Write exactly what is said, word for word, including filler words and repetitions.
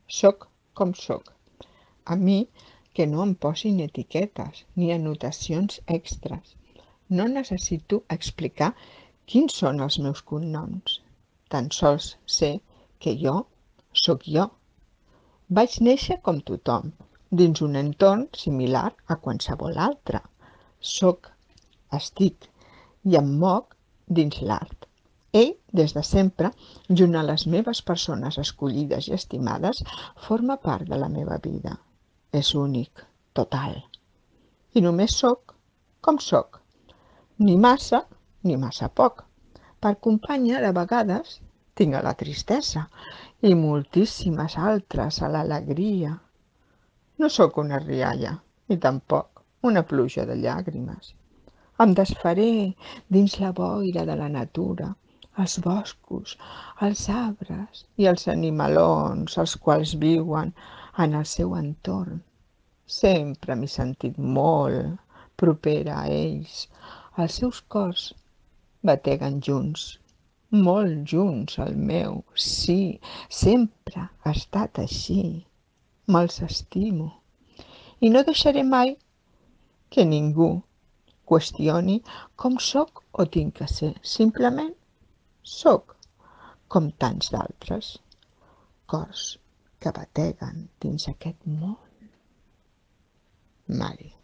Soc com soc. A mi que no em posin etiquetes ni anotacions extres. No necessito explicar quins són els meus cognoms. Tan sols sé que jo sóc jo. Vaig néixer com tothom, dins un entorn similar a qualsevol altre. Soc, estic i em moc dins l'art. Ell, des de sempre, junt a les meves persones escollides i estimades, forma part de la meva vida. És únic, total. I només soc com soc. Ni massa ni massa poc. Per companya, de vegades, tinc a la tristesa i moltíssimes altres a l'alegria. No sóc una rialla, ni tampoc una pluja de llàgrimes. Em desfaré dins la boira de la natura, els boscos, els arbres i els animalons, els quals viuen en el seu entorn. Sempre m'he sentit molt propera a ells. Els seus cors bateguen junts, molt junts al meu. Sí, sempre ha estat així. Me'ls estimo. I no deixaré mai que ningú qüestioni com soc o tinc que ser. Simplement soc com tants d'altres cors que bateguen dins aquest món. Mari.